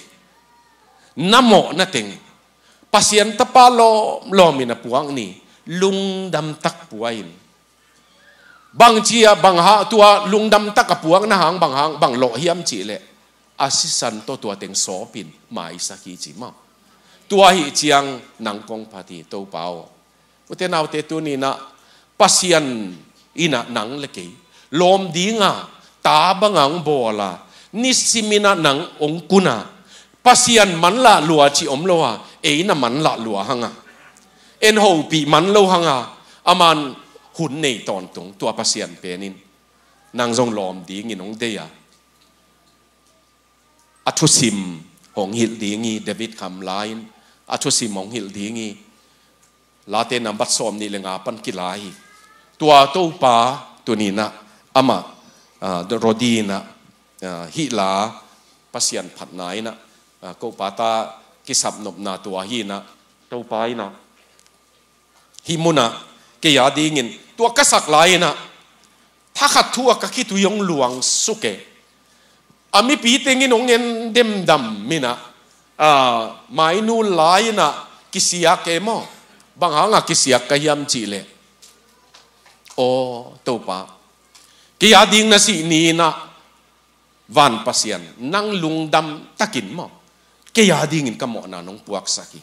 na mawhna teng, Pasian tapa lawmlawm in a puak ni, lungdam tak pua in. Bang ci-a, bang hang, tua lungdam tak a puakna hang bang hang, bang lawh hiam cih leh, a sisan tawh tua teng sawpin maisak hi ci maw. Tua ahih ciang nang kong phat hi, Topa aw. Ute naute, tuni-in ah Pasian in ah nang le kei lawm dinga, ta banga hong bawl a, nisimin ah nang hong kun a, Pasian manlah lua cih om lo a, ei na manlah lua hang a, en hopih man lo hang a, aman hun nei tawntung, tua Pasian pen in nang zong lawm dingin hong deih a, a thusim hong hilh ding hi. David Kham la in a thusim hong hilh ding hi. Late nambat sawmnih le nga pan kila hi. Tua Topa tuni-in ah amah, ah, Rodi in ah, ah, hih la Pasian phatna in ah, ah, ko pata kisapnopna tua hi in ah, Topa in ah hih munah kei a dingin tua ka sak lai-in ah thakhat thu a ka khitui hong luang suk e. A mipi tengin hong en demdam in ah, ah, mainu lai-in ah kisiak e maw? Bang hanga kisiak ka hiam cih leh, aw Topa, kei a ding na sih ni-in ah, van Pasian, nang lungdam takin maw, kei a dingin ka mawhna nong puaksak hi.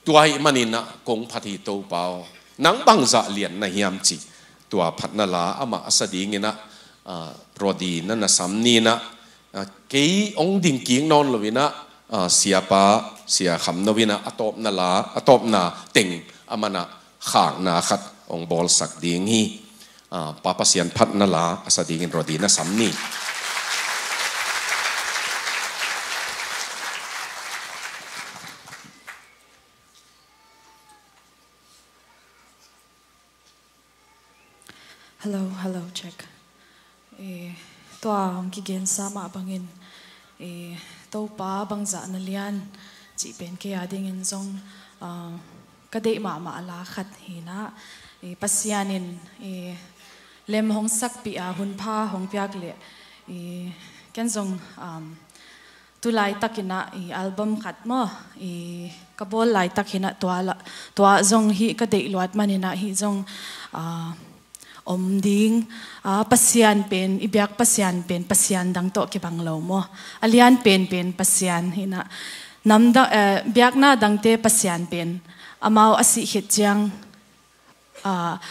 Tua ahih manin ah kong phat hi, Topa aw. Nang bangzah lian na hiam cih tua phatna la amah a sa dingin ah, ah, Rodi na na sam ni-in ah, ah, kei hong dingkik nawn lo-in ah, ah, Siapa, Sia Kham No in ah a tawpna la, a tawpna teng aman ah khakna khat hong bawlsak ding hi. Ah, Pa Pasian phatna la a sa dingin Rodi na sam ni. Hello, hello, check. Eh, tua hong kigensa mah bangin, eh, Topa bangzah na lian cih pen kei a dingin zong, ah, ka deih mahmah la khat hi in ah, eh, Pasian in, eh, lem hong sakpih a hun pha hong piak leh, eh, ken zong, um, tu laitakin ah i album khat maw, i ka bawl laitakin ah tua la, tua zong hih ka deih luat manin ah hih zong, ah, om ding, ah, Pasian pen, i biak Pasian pen, Pasian dang tawh kibang lo maw. A lian penpen Pasian hi in ah, nam dang, eh, biakna dangte Pasian pen, amau a sih khit ciang, ah,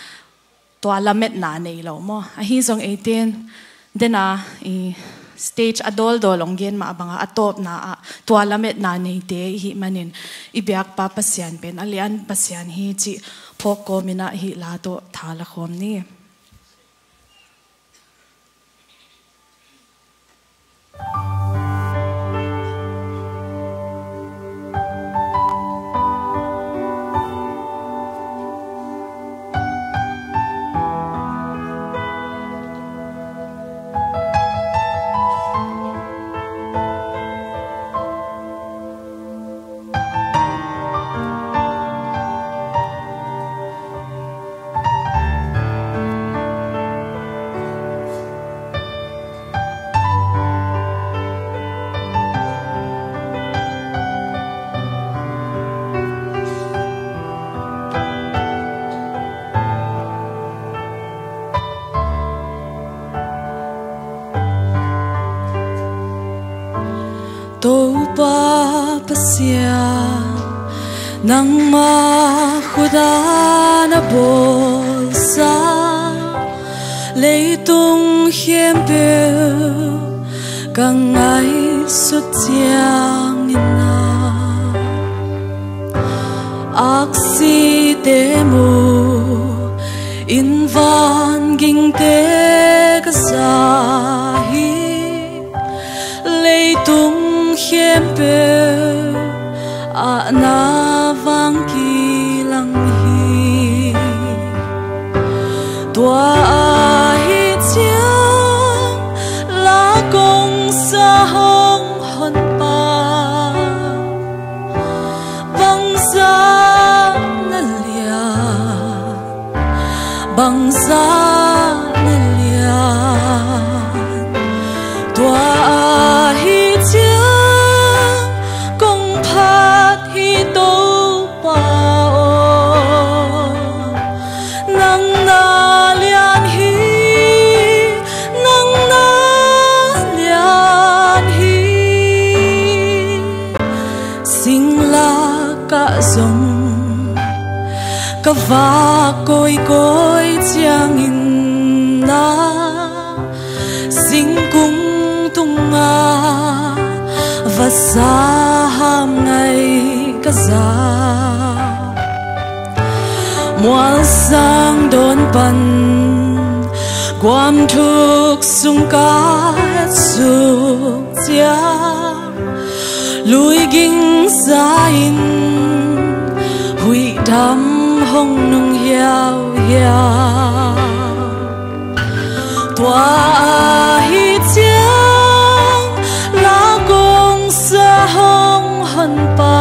tua lametna nei lo maw. Ahi zong eite in, den a, i stage a dawldawl hong gen mah bang a, a tawpna ah tua lametna neite i hih manin, i biakpa Pasian pen a lian Pasian hi cih phawk kawmin ah hih la tawh tha la khawm ni. Topa Pasian, nangmah khut a na bawlsa leitung khempeuh ka ngaihsut ciangin ah, aksite mu in vangingte ka za hi. Leitung khempeuh ah na vang kilang hi. Tua ahih ciang la kong sa hong honpa bangzah na lian, bangzah na lian. Tua ahih ciang kong phat hi Topa aw, nang na lian hi, nang na lian hi. Singlak ah zong ka vak kawikawi ciangin ah, singkung tungah vasa ham ngai ka za. Mualsang dawn pan guam thuk sung ka suk ciang, lui ging za-in huih dam hong nung hiauhiau. Tua ahih ciang la kong sa hong honpa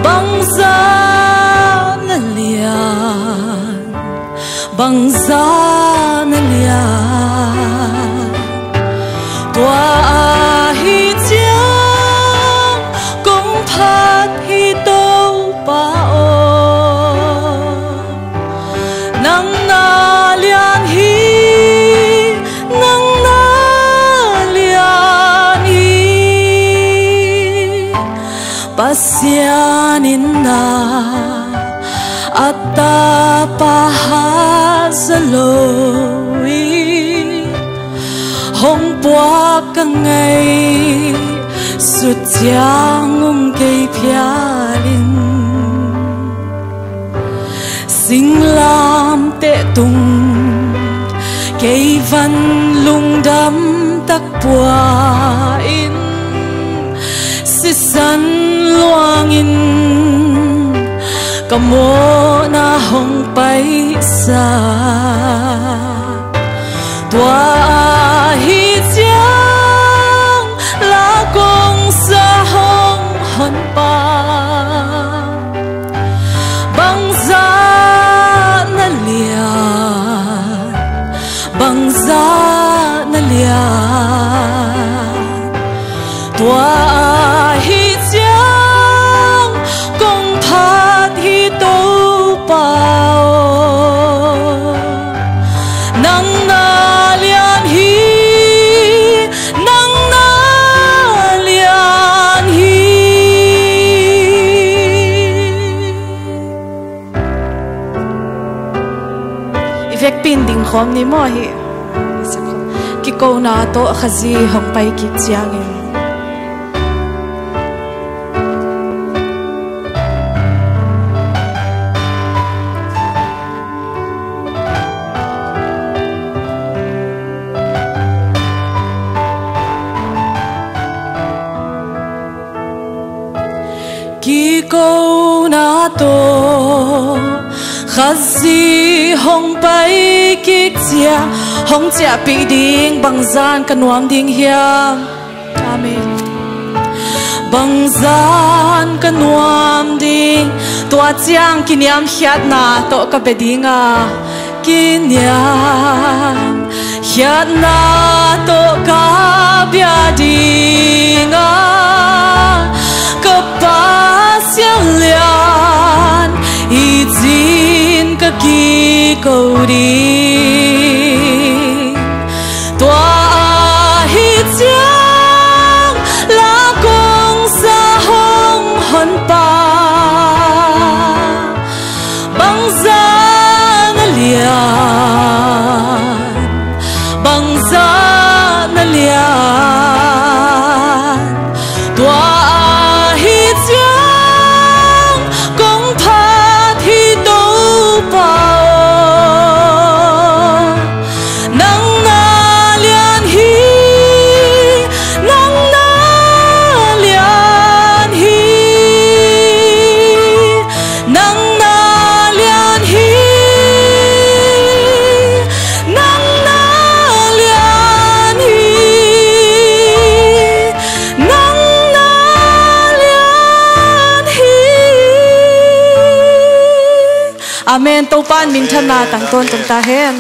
bangzah na lian, bangzah na lian. Tua ahih ciang kong phat hi Topa aw, nang na lian hi, nang na lian hi. Pasian in ah a tapa hat zaw lo-in hong puak ka ngaihsut ciang um kei phial in, singlamteh tung kei van lungdam tak pua-in, sisan luangin ka mawhna hong paisa. Tua ahi ciang la kong sa hong honpa, bangzah na lian, bangzah na lian. Tua ahi ciang kong phat hi Topa aw. Nang na lian hi, nang na lian hi. I vekpi in dingkhawm ni maw hih. Kikona tawh Khazih hong pai kik ciangin. Kikona tawh Khazih hong pai kik ciang, hong ciahpih ding, bangzah ka nuam ding hiam? Amen. Bangzah ka nuam ding, tua ciang kiniamkhiatna tawh ka bia ding a, kiniamkhiatna tawh ka bia ding a, ka Pa siangtho lian, hi cin ka kiko ding. Tua ahi ciang la kong sa hong honpa, bangzah na lian, bangzah na lian. Tua ahi ciang kong phat hi Topa aw. Nang na lian hi, nang na lian hi, nang na lian hi, nang na lian hi, nang na lian hi. Amen. Topa in minthanna tang tawntung ta hen.